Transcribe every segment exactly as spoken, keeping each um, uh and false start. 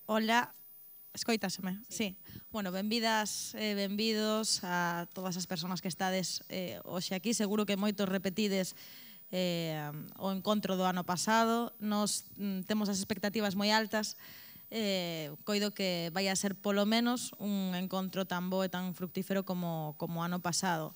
Ola, escoitaseme? Sí. Bueno, benvidas e benvidos a todas as persoas que estades eh, hoxe aquí. Seguro que moitos repetides eh, o encontro do ano pasado. Nos mm, temos as expectativas moi altas. Eh, coido que vai a ser polo menos un encontro tan bo e tan fructífero como, como ano pasado.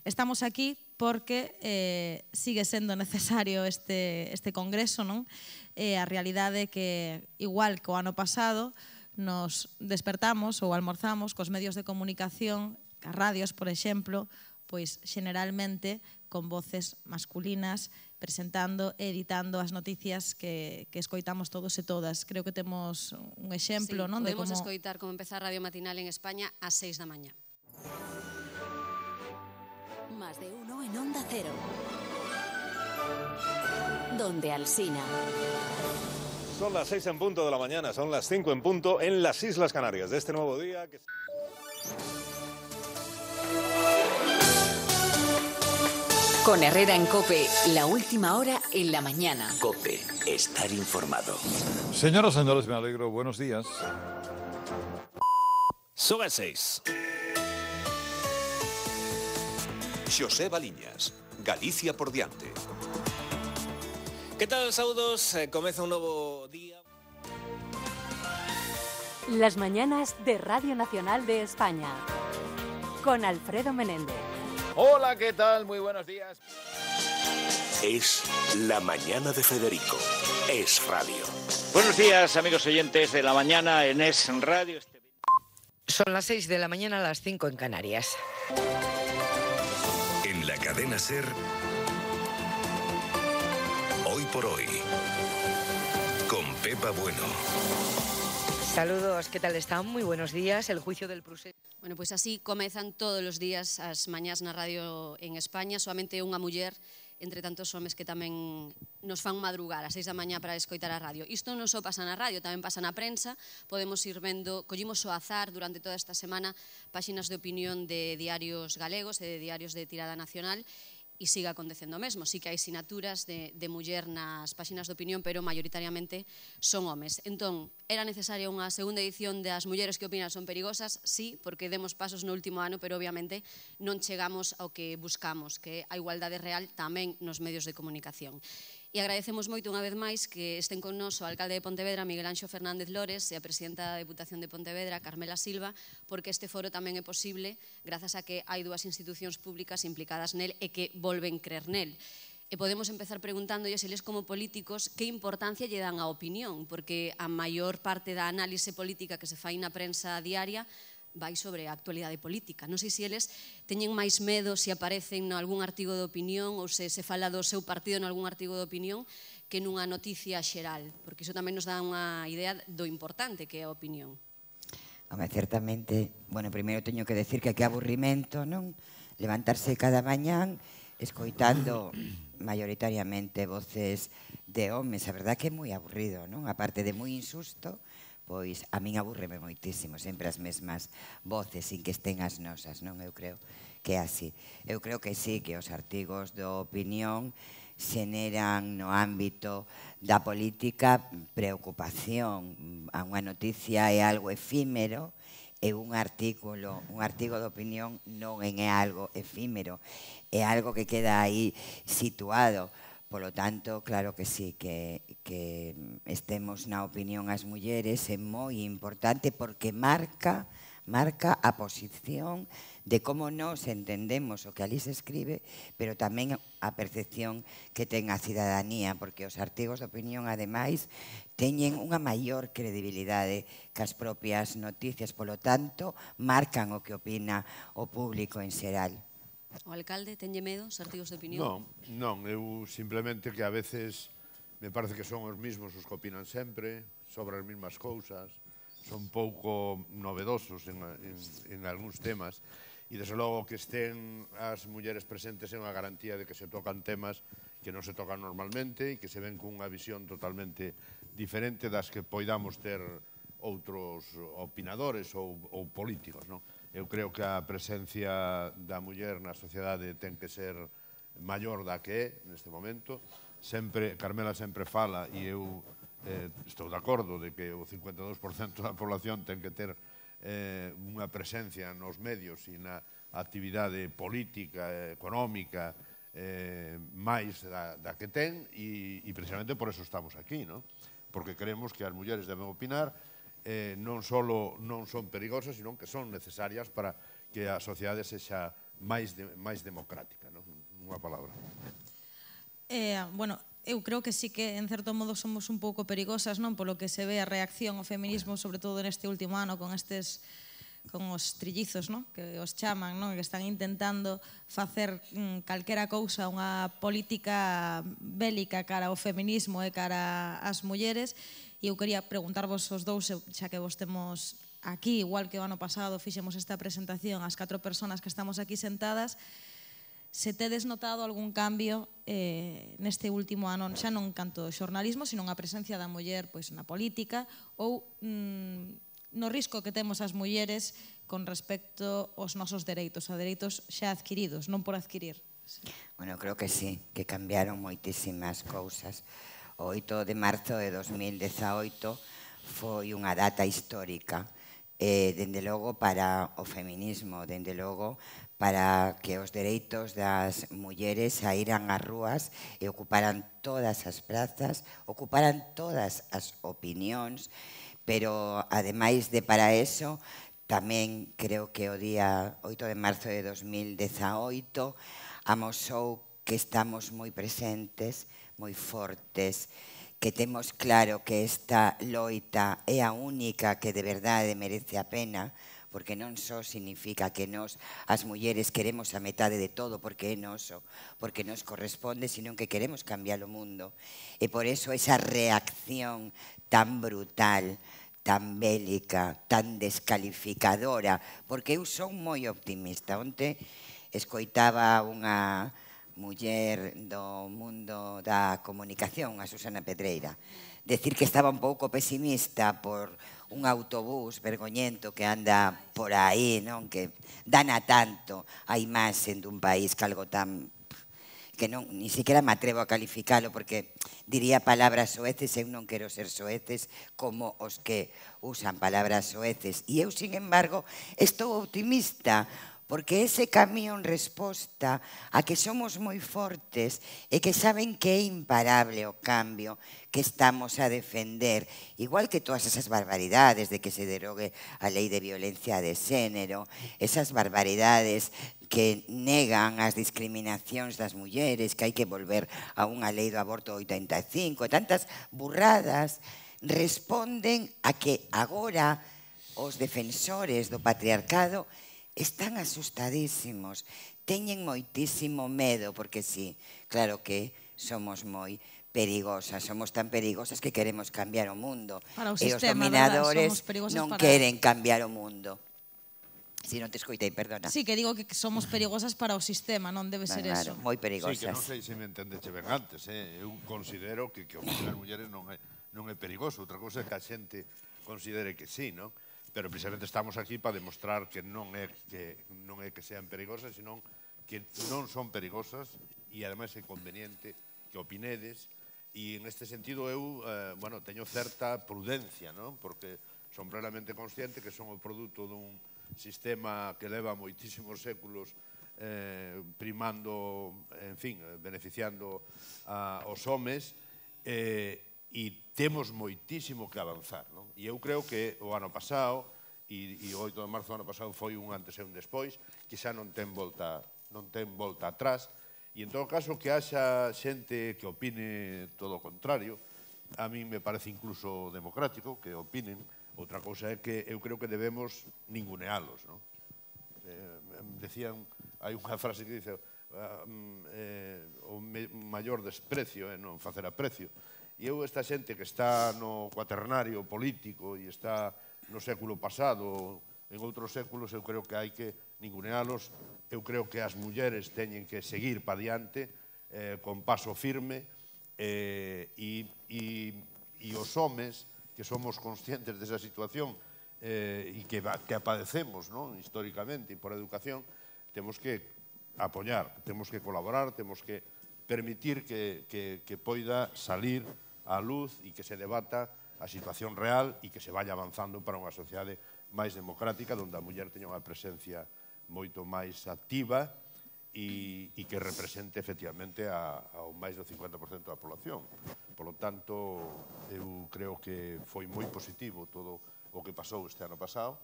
Estamos aquí porque eh, sigue sendo necesario este, este congreso, non? Eh, a realidade é que, igual que o ano pasado, nos despertamos ou almorzamos cos medios de comunicación, as radios, por exemplo, pois generalmente con voces masculinas, presentando e editando as noticias que, que escoitamos todos e todas. Creo que temos un exemplo, sí, non? Podemos de como... escoitar como empeza a Radio Matinal en España ás seis da mañá. Más de uno en Onda Cero. Donde Alsina. Son las seis en punto de la mañana, son las cinco en punto en las Islas Canarias de este nuevo día. Que... Con Herrera en COPE, la última hora en la mañana. COPE, estar informado. Señoras y señores, me alegro. Buenos días. Son as seis. Xosé Baliñas, Galicia por diante. Que tal, saudos? Comeza un novo día. Las mañanas de Radio Nacional de España. Con Alfredo Menéndez. Hola, ¿qué tal? Muy buenos días. Es la mañana de Federico. Es radio. Buenos días, amigos oyentes de la mañana en Es Radio. Son las seis de la mañana, a las cinco en Canarias. En la cadena SER, Hoy por Hoy, con Pepa Bueno. Saludos, ¿qué tal están? Muy buenos días. El juicio del procés. Bueno, pois así comezan todos os días as mañás na radio en España. Soamente unha muller entre tantos homes que tamén nos fan madrugar ás seis da mañá para escoitar a radio. Isto non só pasa na radio, tamén pasa na prensa. Podemos ir vendo, collimos o azar durante toda esta semana páxinas de opinión de diarios galegos e de diarios de tirada nacional, e siga acontecendo o mesmo. Sí que hai sinaturas de, de muller nas páxinas de opinión, pero maioritariamente son homes. Entón, era necesaria unha segunda edición das Mulleres que opinan son perigosas? Sí, porque demos pasos no último ano, pero obviamente non chegamos ao que buscamos, que é a igualdade real tamén nos medios de comunicación. E agradecemos moito unha vez máis que estén con nos o alcalde de Pontevedra, Miguel Anxo Fernández Lores, e a presidenta da Deputación de Pontevedra, Carmela Silva, porque este foro tamén é posible grazas a que hai dúas institucións públicas implicadas nel e que volven crer nel. E podemos empezar preguntándolle se eles como políticos que importancia lle dan á opinión, porque a maior parte da análise política que se fai na prensa diaria vai sobre a actualidade política. Non sei se eles teñen máis medo se aparecen en algún artigo de opinión ou se se fala do seu partido en algún artigo de opinión que nunha noticia xeral, porque iso tamén nos dá unha idea do importante que é a opinión. Home, certamente, bueno, primeiro teño que decir que que aburrimento, non? Levantarse cada mañán escoitando maioritariamente voces de homes, a verdad que é moi aburrido, non? Aparte de moi insusto, pois a min abúrreme moitísimo, sempre as mesmas voces, sin que estén as nosas, non? Eu creo que é así. Eu creo que sí, que os artigos de opinión xeneran no ámbito da política preocupación. A unha noticia é algo efímero e un artículo, un artigo de opinión non é algo efímero, é algo que queda aí situado. Polo tanto, claro que sí, que, que estemos na opinión as mulleres é moi importante porque marca, marca a posición de como nos entendemos o que ali se escribe, pero tamén a percepción que ten a cidadanía, porque os artigos de opinión, ademais, teñen unha maior credibilidade que as propias noticias, polo tanto, marcan o que opina o público en xeral. O alcalde tenlle medo os artigos de opinión? Non, non, eu simplemente que a veces me parece que son os mismos os que opinan sempre, sobre as mesmas cousas, son pouco novedosos en, en, en algúns temas, e desde logo que estén as mulleres presentes é unha garantía de que se tocan temas que non se tocan normalmente e que se ven cunha visión totalmente diferente das que poidamos ter outros opinadores ou, ou políticos, non? Eu creo que a presencia da muller na sociedade ten que ser maior da que é neste momento. Sempre, Carmela sempre fala, e eu eh, estou de acordo de que o cincuenta e dous por cento da población ten que ter eh, unha presencia nos medios e na actividade política, económica, eh, máis da, da que ten, e, e precisamente por eso estamos aquí, ¿no? Porque creemos que as mulleres deben opinar, eh, non só non son perigosas, sino que son necesarias para que a sociedade sexa máis, de, máis democrática, ¿no? Unha palabra. Eh, bueno, eu creo que sí que en certo modo somos un pouco perigosas, non? Polo que se ve a reacción ao feminismo, sobre todo neste último ano, con estes con os trillizos, non? Que os chaman, non? Que están intentando facer mm, calquera cousa, unha política bélica cara ao feminismo e cara ás mulleres. E eu quería preguntarvos os dous, xa que vos temos aquí, igual que o ano pasado fixemos esta presentación ás catro persoas que estamos aquí sentadas, se tedes notado algún cambio eh, neste último ano, xa non canto xornalismo, sino a presencia da muller pois, na política, ou mm, no risco que temos as mulleres con respecto aos nosos dereitos, a dereitos xa adquiridos, non por adquirir. Bueno, creo que sí, que cambiaron moitísimas cousas. O oito de marzo de dos mil dezaoito foi unha data histórica, eh, dende logo para o feminismo, dende logo para que os dereitos das mulleres saíran ás rúas e ocuparan todas as prazas, ocuparan todas as opinións, pero ademais de para eso, tamén creo que o día oito de marzo de dos mil dezaoito amosou que estamos moi presentes, moi fortes, que temos claro que esta loita é a única que de verdade merece a pena, porque non só significa que nós, as mulleres, queremos a metade de todo porque é noso, porque nos corresponde, sino que queremos cambiar o mundo. E por eso esa reacción tan brutal, tan bélica, tan descalificadora, porque eu son moi optimista. Onte escoitaba unha muller do mundo da comunicación, a Susana Pedreira, decir que estaba un pouco pesimista por un autobús vergoñento que anda por aí, non? Que dana tanto a imaxe dun país que algo tan que non, ni siquiera me atrevo a calificalo porque diría palabras soeces, eu non quero ser soeces como os que usan palabras soeces. E eu, sin embargo, estou optimista porque ese camión resposta a que somos moi fortes e que saben que é imparable o cambio que estamos a defender, igual que todas esas barbaridades de que se derogue a lei de violencia de xénero, esas barbaridades que negan as discriminacións das mulleres, que hai que volver a unha lei do aborto oitenta e cinco, e tantas burradas, responden a que agora os defensores do patriarcado están asustadísimos, teñen moitísimo medo, porque sí, claro que somos moi perigosas, somos tan perigosas que queremos cambiar o mundo. E os dominadores non queren cambiar o mundo. Si non te escoitei, perdona. Sí, que digo que somos perigosas para o sistema, non debe ser eso. Moi perigosas. Sí, que non sei se me entendeche ben antes, eu considero que o que as mulleres non é perigoso, outra cousa é que a xente considere que sí, non? Pero precisamente estamos aquí para demostrar que non é que non é que sean perigosas, sino que non son perigosas e ademais é conveniente que opinedes. E en este sentido eu, eh, bueno, teño certa prudencia, non? Porque son plenamente consciente que son o produto dun sistema que leva moitísimos séculos eh, primando, en fin, beneficiando a, os homes, eh, e temos moitísimo que avanzar, non? E eu creo que o ano pasado, e, e o oito de marzo do ano pasado foi un antes e un despois, que xa non ten volta, non ten volta atrás, e en todo caso que haxa xente que opine todo o contrario, a mí me parece incluso democrático que opinen. Outra cousa é que eu creo que debemos ningunealos, non? Eh, decían, hai unha frase que dice uh, eh, o me, maior desprecio é non facer aprecio. E eu, esta xente que está no cuaternario político e está no século pasado, en outros séculos, eu creo que hai que ningunealos. Eu creo que as mulleres teñen que seguir pa diante eh, con paso firme eh, e, e, e os homes que somos conscientes desa situación eh, e que, que apadecemos, non? Históricamente e por educación, temos que apoiar, temos que colaborar, temos que permitir que, que, que poida salir á luz e que se debata a situación real e que se vaya avanzando para unha sociedade máis democrática, onde a muller teña unha presencia moito máis activa e, e que represente efectivamente a, ao máis do cincuenta por cento da población. Por lo tanto, eu creo que foi moi positivo todo o que pasou este ano pasado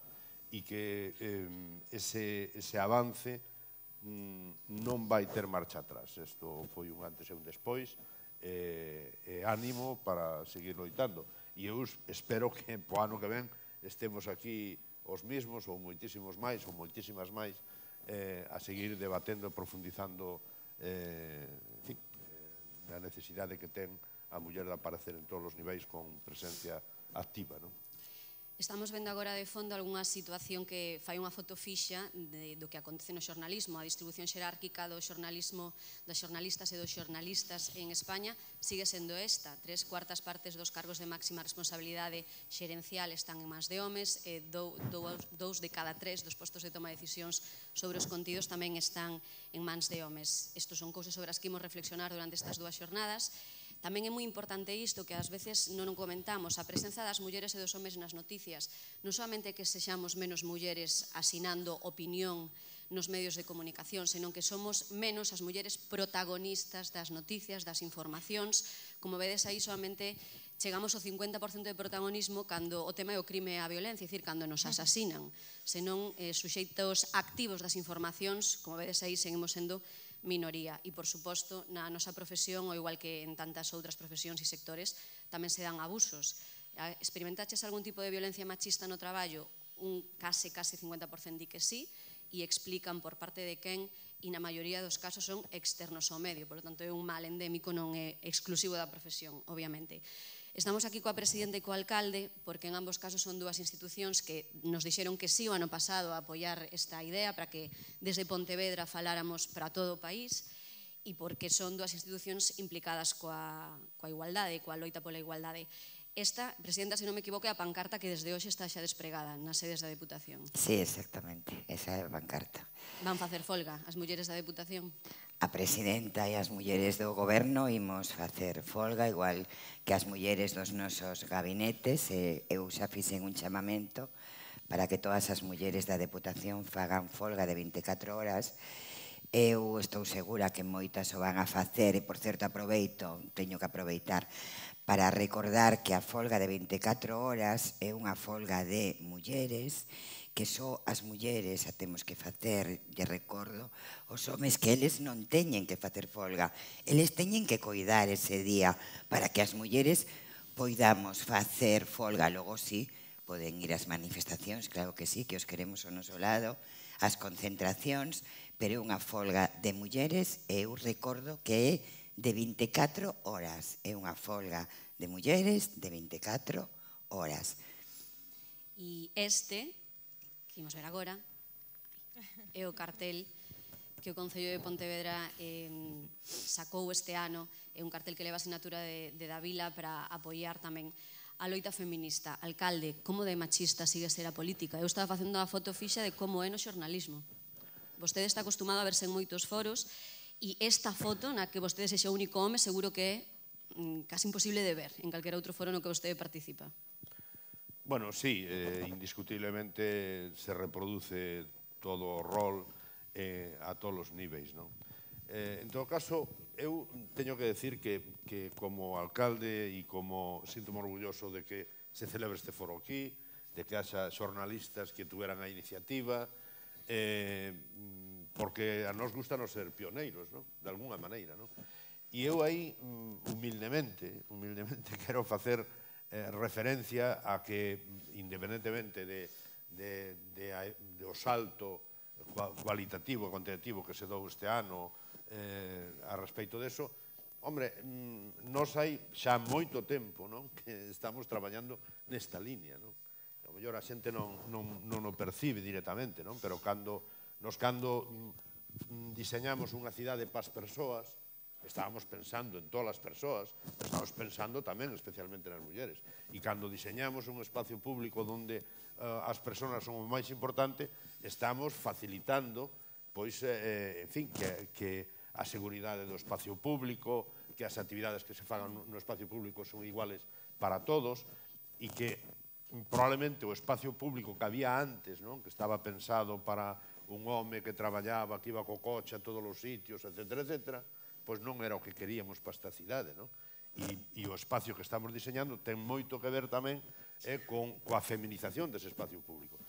e que eh, ese, ese avance mm, non vai ter marcha atrás. Isto foi un antes e un despois, e eh, eh, ánimo para seguir loitando. E eu espero que po ano que ven estemos aquí os mismos, ou moitísimos máis, ou moitísimas máis, eh, a seguir debatendo, profundizando eh, en fin, eh, a necesidade que ten a muller de aparecer en todos os niveis con presencia activa, non? Estamos vendo agora de fondo algunha situación que fai unha foto fixa de, do que acontece no xornalismo. A distribución xerárquica do xornalismo, das xornalistas e dos xornalistas en España sigue sendo esta. Tres cuartas partes dos cargos de máxima responsabilidade xerencial están en mans de homes, e dou, dou, dous de cada tres dos postos de toma de decisións sobre os contidos tamén están en mans de homes. Estos son cousas sobre as que imos reflexionar durante estas dúas xornadas. Tamén é moi importante isto que ás veces non o comentamos, a presenza das mulleres e dos homes nas noticias. Non solamente que sexamos menos mulleres asinando opinión nos medios de comunicación, senón que somos menos as mulleres protagonistas das noticias, das informacións. Como vedes aí, solamente chegamos ao cincuenta por cento de protagonismo cando o tema é o crime e a violencia, é dicir, cando nos asasinan. Senón eh, suxeitos activos das informacións, como vedes aí, seguimos sendo minoría. E, por suposto, na nosa profesión, ou igual que en tantas outras profesións e sectores, tamén se dan abusos. Experimentaches algún tipo de violencia machista no traballo? Un case, case cincuenta por cento di que sí, e explican por parte de quen, e na maioría dos casos son externos ao medio, por lo tanto é un mal endémico, non é exclusivo da profesión, obviamente. Estamos aquí coa presidenta e co alcalde, porque en ambos casos son dúas institucións que nos dixeron que sí o ano pasado a apoiar esta idea para que desde Pontevedra faláramos para todo o país, e porque son dúas institucións implicadas coa, coa igualdade, coa loita pola igualdade. Esta, presidenta, se non me equivoco, é a pancarta que desde hoxe está xa despregada nas sedes da Deputación. Sí, exactamente, esa é a pancarta. Van facer folga as mulleres da Deputación? A presidenta e as mulleres do goberno imos facer folga, igual que as mulleres dos nosos gabinetes. Eu xa fixen un chamamento para que todas as mulleres da Deputación fagan folga de vinte e catro horas. Eu estou segura que moitas o van a facer, e, por certo, aproveito, teño que aproveitar para recordar que a folga de vinte e catro horas é unha folga de mulleres, que só as mulleres a temos que facer, lle recordo, os homes que eles non teñen que facer folga, eles teñen que coidar ese día para que as mulleres poidamos facer folga. Logo sí, poden ir ás manifestacións, claro que sí, que os queremos ao noso lado, ás concentracións, pero é unha folga de mulleres, e eu recordo que é de vinte e catro horas, é unha folga de mulleres de vinte e catro horas. E este, que imos ver agora, é o cartel que o Concello de Pontevedra eh, sacou este ano. É un cartel que leva a sinatura de, de Davila para apoiar tamén a loita feminista. Alcalde, como de machista sigue ser a política? Eu estaba facendo unha foto fixa de como é no xornalismo. Vostede está acostumado a verse en moitos foros, e esta foto, na que vostede sexa o único home, seguro que é mm, casi imposible de ver en calquera outro foro no que vostede participa. Bueno, sí, eh, indiscutiblemente se reproduce todo o rol eh, a todos os niveis, non? Eh, en todo caso, eu teño que decir que, que como alcalde e como sinto-me orgulloso de que se celebre este foro aquí, de que haxa xornalistas que tuveran a iniciativa, eh, porque a nos gusta nos ser pioneiros, non? De alguna maneira, non? E eu aí, humildemente, humildemente quero facer eh, referencia a que, independentemente de, de, de, de o salto cualitativo e cuantitativo que se dou este ano eh, a respecto deso, hombre, nos hai xa moito tempo, non? Que estamos traballando nesta línea, non? A mellor a xente non, non, non o percibe directamente, non? Pero cando, nos cando diseñamos unha cidade para as persoas, estábamos pensando en todas as persoas, estábamos pensando tamén especialmente nas mulleres. E cando diseñamos un espacio público onde uh, as persoas son o máis importante, estamos facilitando, pois, eh, en fin, que, que a seguridade do espacio público, que as actividades que se fagan no espacio público son iguales para todos e que probablemente o espacio público que había antes, non? Que estaba pensado para un home que traballaba, que iba co coche a todos os sitios, etcétera, etcétera, pois non era o que queríamos para esta cidade, non? E, e o espacio que estamos diseñando ten moito que ver tamén eh, con coa feminización dese espacio público.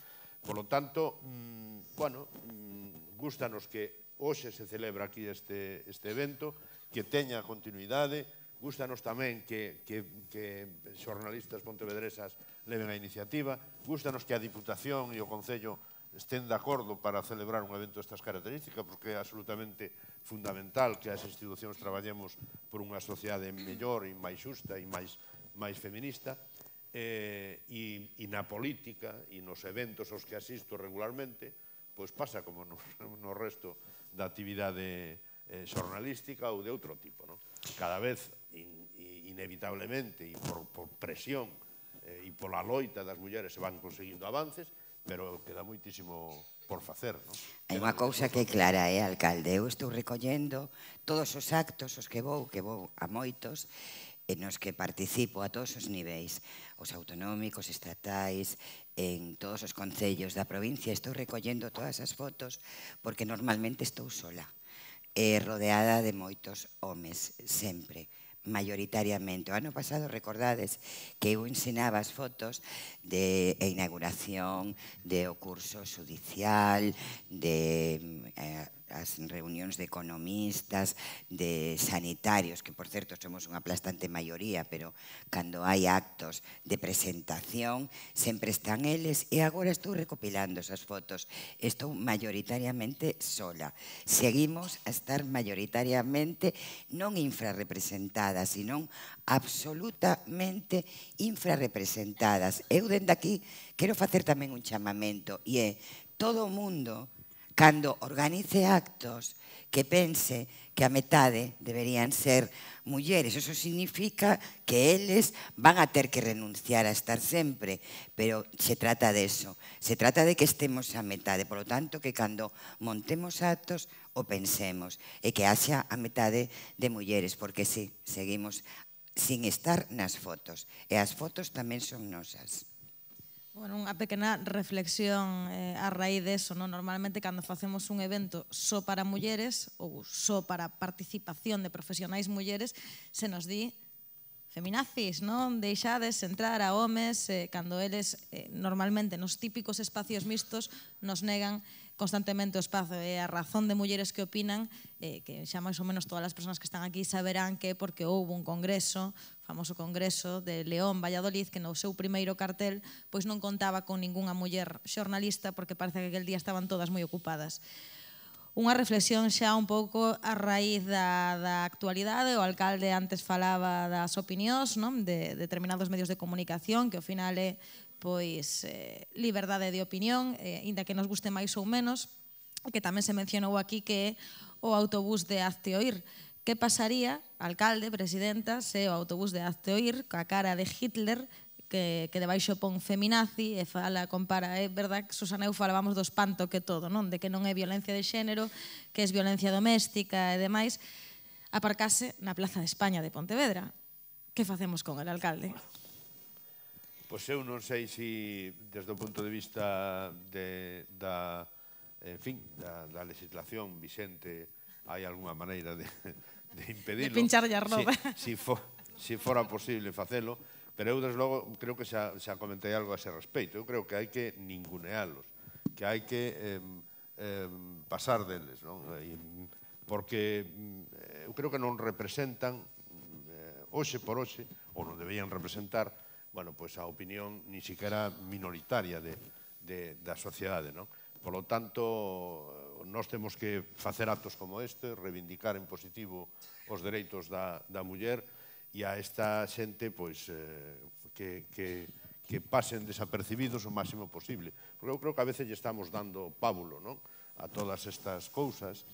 Por lo tanto, mmm, bueno, mmm, gústanos que hoxe se celebra aquí este, este evento, que teña continuidade, gústanos tamén que, que, que xornalistas pontevedresas leven a iniciativa, gústanos que a Diputación e o Concello estén de acordo para celebrar un evento destas características, porque é absolutamente fundamental que as institucións traballemos por unha sociedade mellor e máis xusta e máis, máis feminista, eh, e, e na política e nos eventos aos que asisto regularmente, pois pasa como no, no resto da actividade eh, xornalística ou de outro tipo, non? Cada vez, in, inevitablemente, e por, por presión eh, e pola loita das mulleres se van conseguindo avances, pero queda moitísimo por facer, non? Hai unha cousa que é clara, eh, alcalde? Eu estou recollendo todos os actos os que vou, que vou a moitos, e nos que participo a todos os niveis, os autonómicos, estatais, en todos os concellos da provincia. Estou recollendo todas as fotos porque normalmente estou sola, eh, rodeada de moitos homes, sempre, mayoritariamente. O ano pasado, recordades que eu ensinaba as fotos de inauguración, de o curso judicial, de eh, as reunións de economistas, de sanitarios, que por certo somos unha aplastante maioría, pero cando hai actos de presentación sempre están eles, e agora estou recopilando esas fotos. Estou mayoritariamente sola. Seguimos a estar mayoritariamente non infrarrepresentadas, sino absolutamente infrarrepresentadas. Eu dende aquí quero facer tamén un chamamento, e é todo o mundo, cando organice actos, que pense que a metade deberían ser mulleres. Eso significa que eles van a ter que renunciar a estar sempre, pero se trata de eso. Se trata de que estemos a metade. Por lo tanto, que cando montemos actos o pensemos, e que haxa a metade de mulleres, porque sí, seguimos sin estar nas fotos. E as fotos tamén son nosas. Bueno, unha pequena reflexión eh, a raíz de eso, non? Normalmente, cando facemos un evento só para mulleres ou só para participación de profesionais mulleres, se nos di feminazis, non? Deixades entrar a homes eh, cando eles eh, normalmente nos típicos espacios mixtos nos negan constantemente o espazo. E a razón de mulleres que opinan, eh, que xa máis ou menos todas as persoas que están aquí saberán que é porque houve un congreso, famoso congreso de León, Valladolid, que no seu primeiro cartel pois non contaba con ningunha muller xornalista, porque parece que aquel día estaban todas moi ocupadas. Unha reflexión xa un pouco a raíz da, da actualidade. O alcalde antes falaba das opinións, non? De determinados medios de comunicación, que ao final é pois eh, liberdade de opinión, eh, inda que nos guste máis ou menos, que tamén se mencionou aquí que é o autobús de Hazte Oír. Que pasaría, alcalde, presidenta, se o autobús de Hazte Oír, coa cara de Hitler, que, que debaixo pon feminazi, e fala, compara, é verdad que Susana eu falábamos do espanto que todo, non? De que non é violencia de xénero, que é violencia doméstica e demais, aparcase na Plaza de España de Pontevedra. Que facemos con el, alcalde? Pois eu non sei se, desde o punto de vista de, da, en fin, da, da legislación vixente, hai algunha maneira de, de impedilo. De pincharlle a roda. Si, si, for, si fora posible facelo, pero eu, desde logo, creo que xa, xa comentei algo a ese respeito. Eu creo que hai que ningunealos, que hai que eh, eh, pasar deles, non? Porque eh, eu creo que non representan, eh, hoxe por hoxe, ou non deberían representar, bueno, pois a opinión ni siquiera minoritaria de, de, da sociedade, non? Por lo tanto, nós temos que facer actos como este, reivindicar en positivo os dereitos da, da muller, e a esta xente pois, eh, que, que, que pasen desapercibidos o máximo posible. Porque eu creo que a veces lle estamos dando pábulo, non? A todas estas cousas.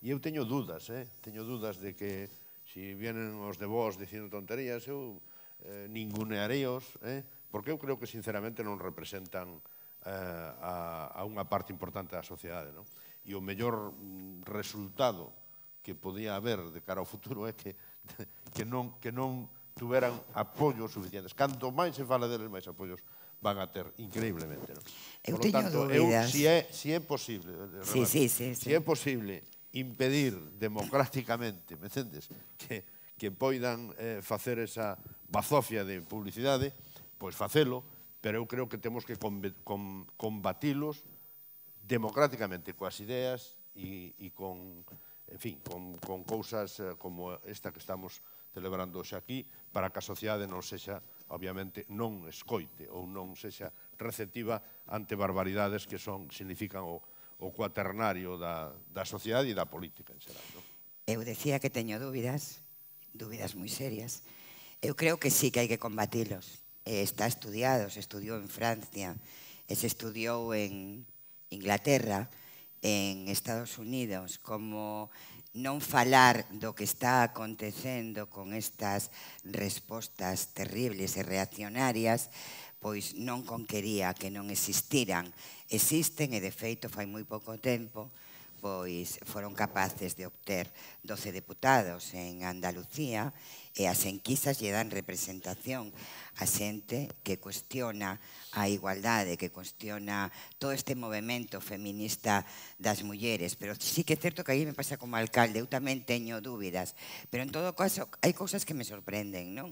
E eu teño dudas, eh? teño dudas de que se vienen os de vos dicindo tonterías, eu eh, ninguneareos, eh? Porque eu creo que sinceramente non representan A, a unha parte importante da sociedade, non? E o mellor resultado que podía haber de cara ao futuro é que que non, que non tuveran apoios suficientes. Canto máis se fala deles, máis apoios van a ter, increíblemente. Non? Eu Por lo teño tanto, dúbidas. Eu, si, é, si é posible, Sí, remate, sí, sí, sí. si é posible impedir democráticamente, me entendes, que, que poidan eh, facer esa bazofia de publicidade, pois facelo, pero eu creo que temos que combatilos democráticamente coas ideas e, e con, en fin, con, con cousas como esta que estamos celebrando hoxe aquí, para que a sociedade non sexa, obviamente, non escoite ou non sexa receptiva ante barbaridades que son, significan o, o cuaternario da, da sociedade e da política en xeral. Non? Eu decía que teño dúbidas, dúbidas moi serias. Eu creo que sí que hai que combatilos. Está estudiado, se estudiou en Francia, e se estudiou en Inglaterra, en Estados Unidos, como non falar do que está acontecendo con estas respostas terribles e reaccionarias, pois non conquería que non existiran. Existen, e de feito fai moi pouco tempo, pois foron capaces de obter doce deputados en Andalucía e as enquisas lle dan representación a xente que cuestiona a igualdade, que cuestiona todo este movimento feminista das mulleres. Pero sí que é certo que aí me pasa como alcalde, eu tamén teño dúbidas, pero en todo caso hai cousas que me sorprenden, non?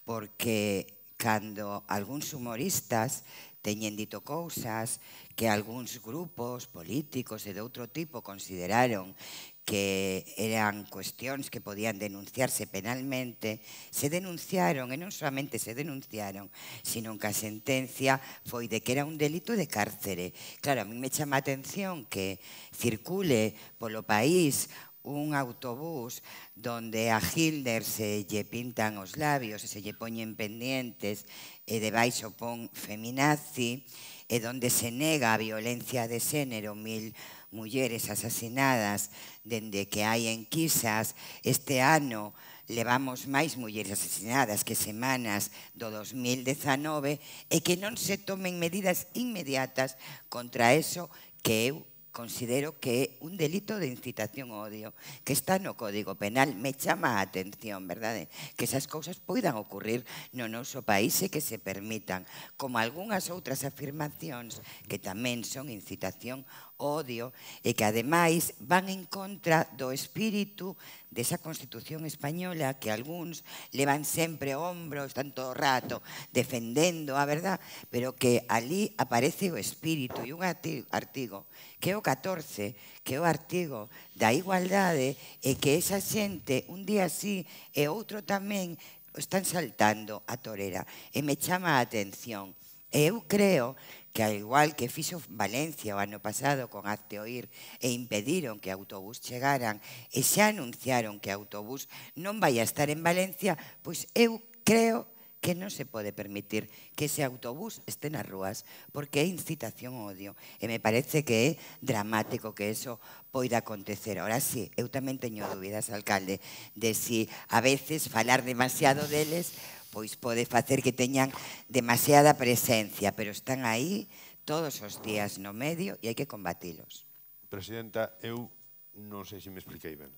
Porque cando algúns humoristas teñen dito cousas que algúns grupos políticos e de outro tipo consideraron que eran cuestións que podían denunciarse penalmente, se denunciaron, e non solamente se denunciaron, sino que a sentencia foi de que era un delito de cárcere. Claro, a mí me chama a atención que circule polo país un autobús donde a Hitler se lle pintan os labios e se lle poñen pendientes e debaixo pon feminazi, e donde se nega a violencia de xénero, mil mulleres asasinadas dende que hai enquisas. Este ano levamos máis mulleres asasinadas que semanas do dos mil dezanove, e que non se tomen medidas inmediatas contra eso que eu considero que é un delito de incitación ao odio, que está no Código Penal. Me chama a atención, verdade? Que esas cousas poidan ocurrir no noso país e que se permitan, como algunhas outras afirmacións que tamén son incitación ao odio e que ademais van en contra do espírito desa Constitución española que algúns levan sempre o ombro, están todo o rato defendendo a verdad, pero que ali aparece o espírito e un artigo que é o catorce, que é o artigo da igualdade, e que esa xente un día sí e outro tamén están saltando a torera, e me chama a atención. E eu creo que, ao igual que fixo Valencia o ano pasado con Hazte Oír e impediron que autobús chegaran e xa anunciaron que autobús non vai a estar en Valencia, pois eu creo que non se pode permitir que ese autobús este nas rúas, porque é incitación ao odio. E me parece que é dramático que eso poida acontecer. Ahora sí, eu tamén teño dúbidas, alcalde, de si a veces falar demasiado deles pois pode facer que teñan demasiada presencia, pero están aí todos os días no medio e hai que combatilos. Presidenta, eu non sei se me expliquei ben.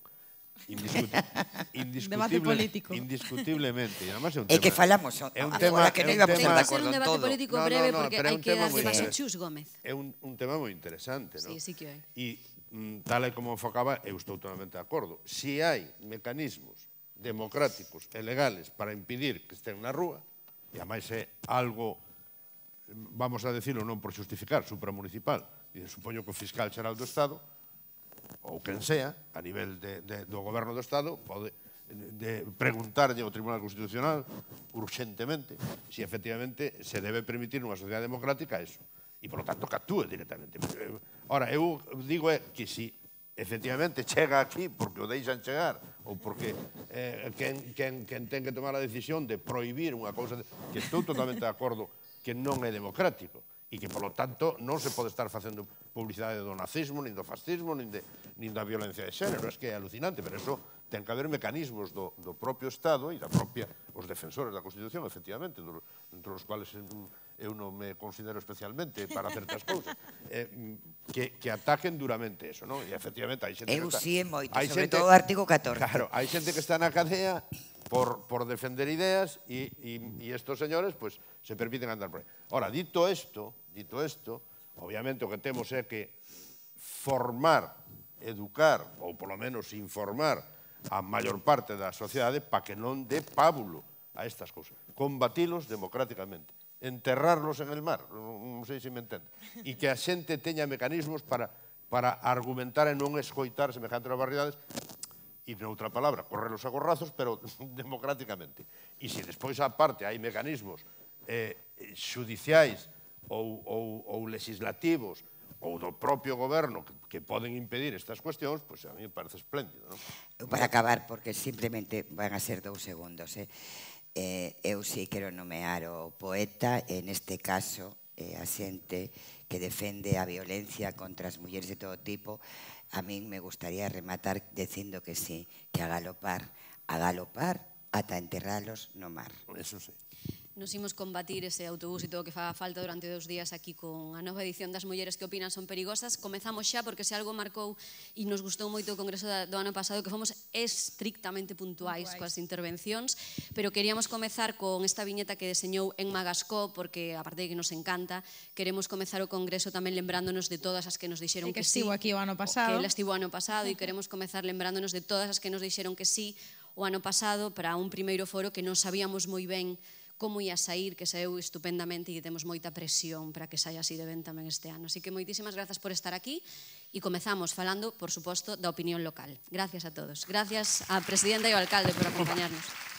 Indiscuti Debate político. Indiscutiblemente. E además é un tema. É que falamos é un tema que non íbamos a estar de acordo en todo. É un debate político breve porque hai que darlle paso a Chus Gómez. É un tema moi interesante, non? Sí, sí que hai. E tal e como enfocaba, eu estou totalmente de acordo. Si hai mecanismos democráticos e legales para impedir que estén na rúa, e ademais é algo, vamos a decirlo non por justificar, supramunicipal, e supoño que o fiscal xeral do Estado ou quen sea, a nivel de, de, do goberno do Estado, pode de preguntarlle ao Tribunal Constitucional urxentemente se efectivamente se debe permitir nunha sociedade democrática eso. E, por lo tanto, que actúe directamente. Ora, eu digo é que si efectivamente chega aquí porque o deixan chegar ou porque eh, quen, quen, quen ten que tomar a decisión de prohibir unha cousa de, que estou totalmente de acordo que non é democrático e que, por lo tanto, non se pode estar facendo publicidade do nazismo, nin do fascismo, nin, de, nin da violencia de xénero. É que é alucinante, pero eso ten que haber mecanismos do, do propio Estado e da propia, os defensores da Constitución, efectivamente, do, entre os cuales eu non me considero especialmente para certas cousas, eh, que, que ataquen duramente eso, non? E efectivamente hai xente eu que está... sí, moito, hai sobre xente, todo o artigo catorce. Claro, hai xente que está na cadea por, por defender ideas e, e, e estos señores pues, se permiten andar por aí. Ora, dito isto, dito isto, obviamente o que temos é que formar, educar, ou polo menos informar a maior parte da sociedade para que non dé pábulo a estas cousas. Combatilos democráticamente. Enterrarlos en el mar, non sei se me entende. E que a xente teña mecanismos para, para argumentar e non escoitar semejantes barbaridades e, noutra palabra, correrlos a gorrazos, pero democráticamente. E se despois, a parte, hai mecanismos eh, xudiciais ou, ou, ou legislativos ou do propio goberno que, que poden impedir estas cuestións, pois a mí me parece espléndido, non? Para acabar, porque simplemente van a ser dous segundos, eh? Eh, eu sí quero nomear o poeta, en este caso, eh, a xente que defende a violencia contra as mulleres de todo tipo. A min me gustaría rematar dicindo que sí, que a galopar, a galopar, ata enterralos no mar. Eso sí. Nos imos combatir ese autobús e todo o que faga falta durante dous días aquí con a nova edición das Mulleres que opinan son perigosas. Comezamos xa porque se algo marcou e nos gustou moito o congreso do ano pasado que fomos estrictamente puntuais coas intervencións, pero queríamos comezar con esta viñeta que deseñou Emma Gascó porque, aparte de que nos encanta, queremos comezar o congreso tamén lembrándonos de todas as que nos dixeron que, que sí. estivo aquí o ano pasado. Que ela estivo o ano pasado e queremos comezar lembrándonos de todas as que nos dixeron que sí o ano pasado para un primeiro foro que non sabíamos moi ben como ia sair, que saeu estupendamente e que temos moita presión para que saia así de ben tamén este ano. Así que moitísimas grazas por estar aquí e comezamos falando, por suposto, da opinión local. Gracias a todos. Gracias á presidenta e ao alcalde por acompañarnos.